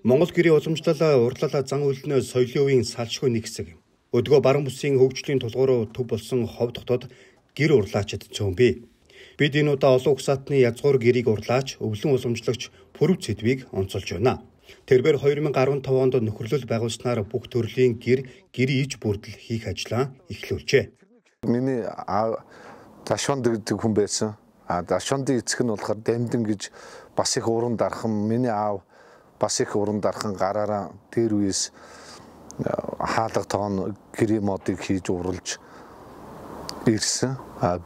Монгол гэрийн уламжлал урдлал зан үйлнээ соёлын үеийн салшгүй нэг хэсэг. Өдгөө баруун бүсийн хөгжлийн тулгуур төв болсон хов дотоод гэр урлаачид цөөнбий. Бид энэ удаа олон угсаатны язгуур гэрийг урлаач өвлөн уламжлагч Пүрэв Цэдвийг онцолж байна. Тэрбээр 2015 онд нөхөрлөл байгуулснаар бүх төрлийн гэрийн иж бүрдэл хийх ажлаа эхлүүлжээ. Миний Дашванд гэдэг хүн байсан. Дашвандын эцэг нь болохоор Дамдин гэж бас их уран дархан. Миний аав бас их уран дархан гараараа дээр үес хаалга тоон гэрийн модыг хийж урлж ирсэн.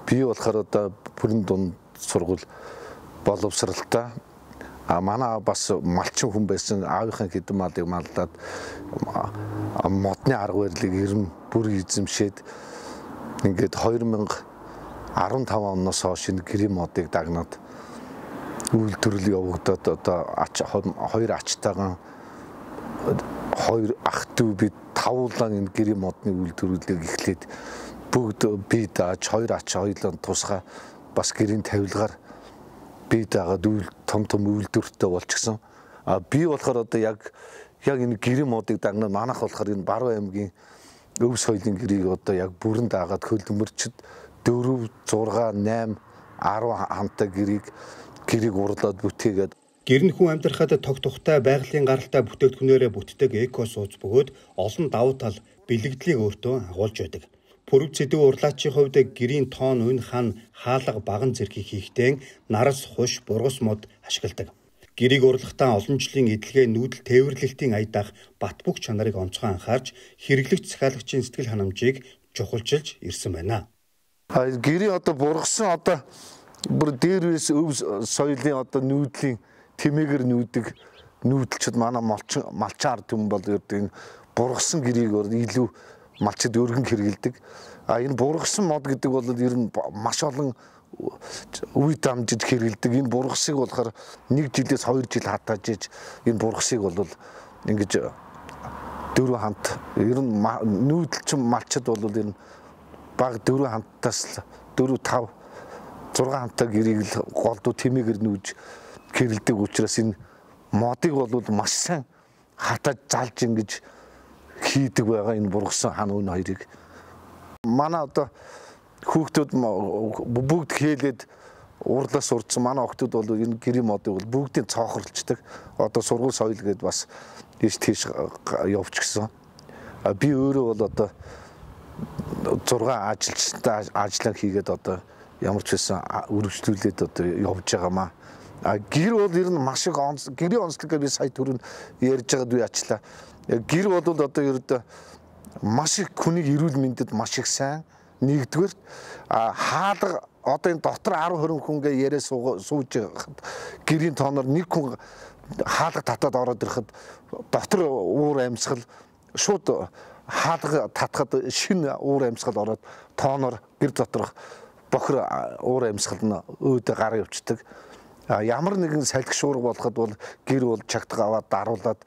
Би болохоор одоо бүрэн дунд сургууль боловсралтай. Манай бас малчин хүн байсан. Аавынхаа хэдэн малыг малдаад модны арга барилыг ерөн бүр эзэмшээд ингээд 2015 оноос хойш энэ гэрийн модыг дагнаад үйлдвэрлэл явагдаад одоо хоёр ачтайгаан хоёр ах дүү бид тавуулан энэ гэрийн модны үйлдвэрлэлийг эхлээд бүгд бие дааж хоёр ач хоёулаа тусгай бас гэрийн тавилгаар бие даагаад том үйлдвэртэй болчихсон. Би болохоор одоо яг энэ гэрийн модыг дагнаад манайх болохоор энэ Баруун аймгийн өв соёлын гэрийг одоо яг бүрэн даагаад хөлбөмбөрчд 4, 6, 8, 10 хамтаа гэрийг урлаад бүтээгээд гэр нь хүн амьдрахад тог тухтай байгалийн гаралтай бүтээгдэхүүнээрээ бүтдэг эко сууц бөгөөд олон давуу тал бэлэгдлийг өөртөө агуулж байдаг. Пүрэв Цэдв урлаачийн хувьд гэрийн тоон үн хан хаалга баган зэргийг хийхдээ нарас хуш бургас мод ашигладаг. Гэрийг урлахдаа олон жилийн эдлэгээ нүүдэл тээвэрлэлтийн аядаах бат бөх чанарыг онцгой анхаарч хэрэглэгч захиалагчийн сэтгэл ханамжийг чухалчилж ирсэн байна. Гэрийн одоо бургасан одоо бүр дээр үес өв соёлын одоо нүүдлийн тэмээгээр нүүдэлчд манай малчин ард түмэн бол энэ бургасан гэрийг илүү малчид өргөн хэрэгэлдэг. Энэ бургасан мод гэдэг бол ер нь маш олон үе дамжиж хэрэгэлдэг. Энэ бургасыг болохоор 1 жилээс 2 жил хатааж иж энэ бургасыг бол ингэж 4 хамт ер нь нүүдэлчин малчид бол ер нь баг 4 хамтаас 4, 5, 6 хамтаа гэрийг л голдуу тэмээгээр нүүж хэрэгэлдэг учраас энэ модыг бол маш сайн хатааж залж ингэж хийдэг байгаа энэ бургасан хан үн хоёрыг. Манай одоо хүүхдүүд бүгд хээлээд урлаас урдсан манай хүүхдүүд бол энэ гэрийн модыг бол бүгдийн цоохорлцдаг. Одоо сургууль соёл гэдээ бас тийш явчихсан. Би өөрөө бол одоо 6 ажилчтай ажиллаа хийгээд одоо ямар ч байсан үргэлжлүүлээд одоо явж байгаамаа. Гэр бол ер нь маш их гэрийн онцлог би сая түрүүн ярьж байгаад би ачлаа. Гэр бол одоо ердөө маш их хүний эрүүл мэндэд маш их сайн. Нэгдүгээр хаалга одоо энэ дотор 10-20 хүнгээ яриа сууж байхад гэрийн тооноор нэг хүн хаалга татаад ороод ирэхэд дотор уур амьсгал шууд хаалга татхад шинэ уур амьсгал ороод тооноор гэр доторх бохир уур амьсгал нь өөдөө гараа явцдаг. Ямар нэгэн салхи шуурга болоход бол гэр бол чагтга аваад даруулаад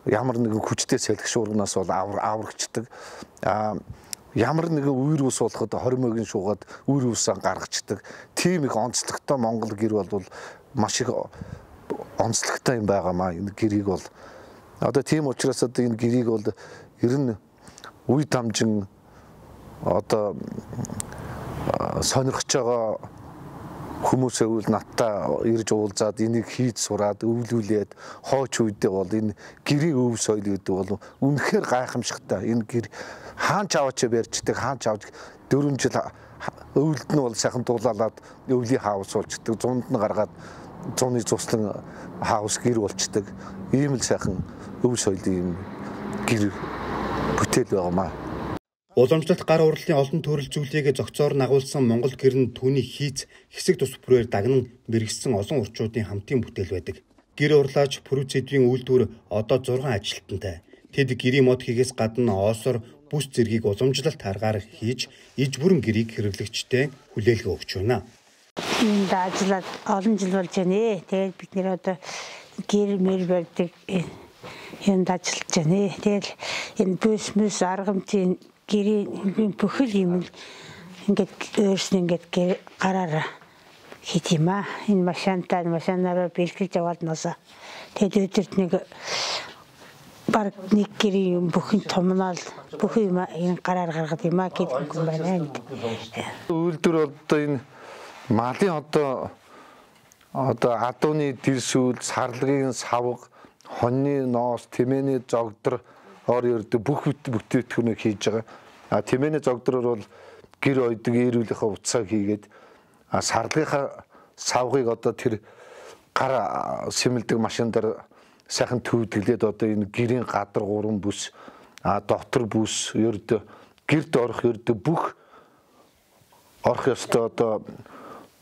ямар нэгэн хүчтэй салхи шуурганаас бол аврагчдаг. Ямар нэгэн үер ус болоход хормойгийн шуугаад үер усаа гаргацдаг. Тийм их онцлогтой Монгол гэр бол маш их онцлогтой юм байгаамаа. Энэ гэрийг бол одоо тийм учраас одоо энэ гэрийг бол ер нь үе дамжин одоо сонирхож байгаа хүмүүсээ үл надтай ирж уулзаад энийг хийж сураад өвлүүлээд хойч үедээ бол энэ гэрийн өв соёл гэдэг бол үнэхээр гайхамшигтай. Энэ гэр хаан чаваач барьждаг, хаан чавж 4 жил өвлд нь бол сайхан дуулаад өвлийн хаус болчдөг, зунд нь гаргаад зуны цуслан хаус гэр болчдөг. Ийм л сайхан өв соёлын гэр бүтээл байгаамаа. Уламжлалт гар урлалын олон төрөл зүйлийг зохицоор нагуулсан Монгол гэр нь түүний хийц хэсэг тус бүрээр дагнан мэргэжсэн олон урчуудын хамтын бүтээл байдаг. Гэр урлаач Пүрэв Цэдвийн үйлдвэр одоо 6 ажилтнтай. Тэд гэрийн мод хийгээс гадна оосор бүс зэргийг уламжлалт аргаар хийж иж бүрэн гэрийг хэрэглэгчтэй хүлээлгээ өгч байна. Энд ажиллаад олон жил болж байна. Тэгээд бид нэр одоо гэр мэр барьдаг энд ажиллаж байна. Тэгэл энэ бүс аргамжийн гэрийн бүхэл юм ингээд өөрснөө ингээд гараараа хийх юм аа. Энэ машинаараа бэлтгэж яваад ноосоо Тэгээд өдөрт нэг баг нэг гэрийн юм бүхэн томнол бүхэн юм энэ гараар гаргаад юм а гэдэг юм байна. Үйлдвэр одоо энэ малын одоо адууны дэрсүүл, сарлагын савга, хоньны ноос, тэмээний зогдор ердөө бүх бүтээгдэхүүнийг хийж байгаа. Тэмээний зогдроор бол гэр ойдог eerүүлийнхаа уцааг хийгээд сарлагынхаа савгыг одоо тэр гар сэмэлдэг машинаар сайхан төвдөглээд одоо энэ гэрийн гадар 3 бүс дотор бүс ердөө гэрд орох ердөө бүх орох ёстой одоо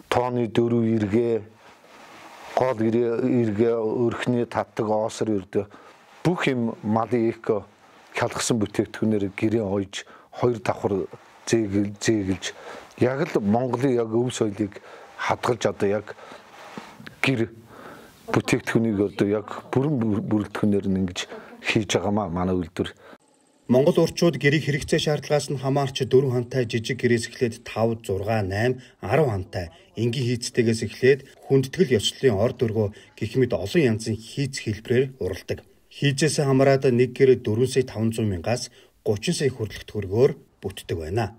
тооны 4 эргээ гол эргээ өрхний татдаг оосор ердөө бүх юм малын эко хялгсан бүтээгдэхүүнээр гэрээ ойж 2 давхар зээгэлж яг л Монголын яг өв соёлыг хадгалж одоо яг гэр бүтээгдэхүүнийг одоо яг бүрэн бүрэлдэхүүнээр нь ингэж хийж байгаамаа манай үйлдвэр. Монгол урчууд гэрийг хэрэгцээ шаардлагаас нь хамаарч 4 хантай жижиг гэрээс эхлээд 5, 6, 8, 10 хантай энгийн хийцтэйгээс эхлээд хүндэтгэл ёслолын ор дөргөө гэх мэт олон янзын хийц хэлбэрээр уралдаг. Хийцээс хамаараад нэг гэр 4 сая 500 мянгаас 30 сая хүртэлх төгрөгөөр бүтдэг байна.